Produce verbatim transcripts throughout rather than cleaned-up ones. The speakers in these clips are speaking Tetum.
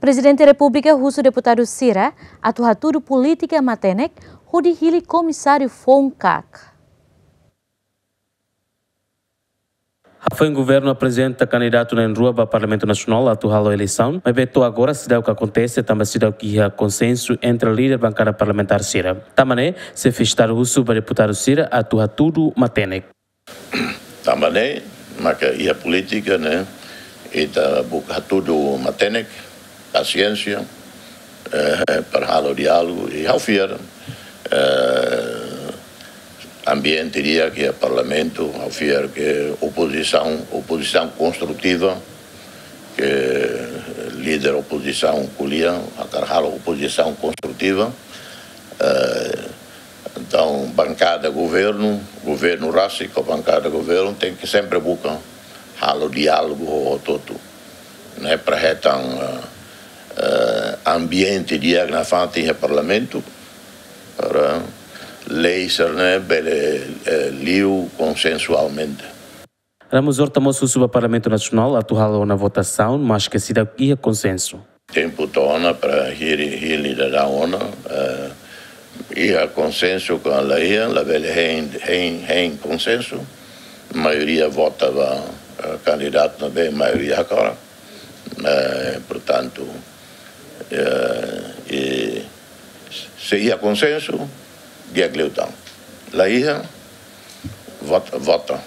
Prezidente Repúblika husu deputadu sira atu hatudu polítika matenek hodi hili komisáriu foun kak. Hafoin governu aprezenta kandidatu na'in-rua ba Parlamentu Nasionál atu halo eleisaun, maibé to'o agora seidauk akontese tanba seidauk iha konsensu entre líder bankada parlamentár sira. Tanba ne'e, xefe Estadu husu ba deputadu sira atu hatudu matenek. Tanba ne'e, maka iha polítika ne'e, ita buka hatudu matenek, pasiénsia, eh, para halo diálogu, i ha'u fiar, eh, ambiente di'ak iha Parlamentu, ha'u fiar ke opozisaun, opozisaun konstrutiva, ke líder opozisaun ko'alia, hakarak halo opozisaun konstrutiva, eh, entaun, bankada governu, governu rasik ho bankada governu tenke sempre buka halo diálogu ho hotu-hotu. Ne'e para hetan, eh, eh, ambiente di'ak nafatin iha Parlamentu, para lei sira-ne'e bele, eh, liu konsensualmente. Ramos Horta mós husu ba Parlamentu Nasionál atu halo ona votasaun, maske seidauk iha konsensu. Tempu to'o ona para hili, hili daudaun ona, eh, iha konsensu ka la iha, labele hein, hein, hein konsensu. Maioria vota ba, eh, kandidatu ne'ebé maioria hakarak. Eh, portantu, eh, i se iha konsensu, di'ak liután. La iha, vot-, vota.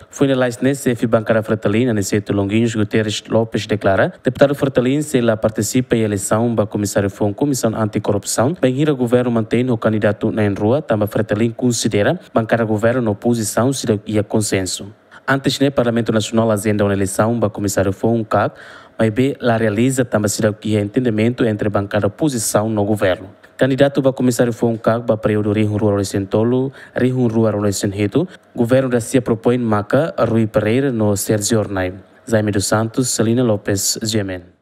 Foin lalais ne'e, xefe bankada Fretilin, Aniceto Longuinhos Guterres Lopes, deklara, deputadu Fretilin sei la partisipa iha eleisaun ba komisáriu foun Komisaun Anti-Korrupsaun, bainhira governu mantein ho kandidatu na'in-rua, tanba Fretilin konsidera bankada governu no opozisaun seidauk iha konsensu. Antes ne'e, Parlamentu Nasionál ajenda ona eleisaun ba komisáriu foun kak, maibé la realiza tanba seidauk iha entendimentu entre bankada opozisaun no governu. Kandidatu ba komisáriu foun kak ba períodu rihun rua ruanulu-resin-tolu, rihun rua ruanulu-resin-hitu, governu da-sia propoin maka Rui Pereira no Sérgio Hornai. Jaime dos Santos, Celina Lopes, G M N.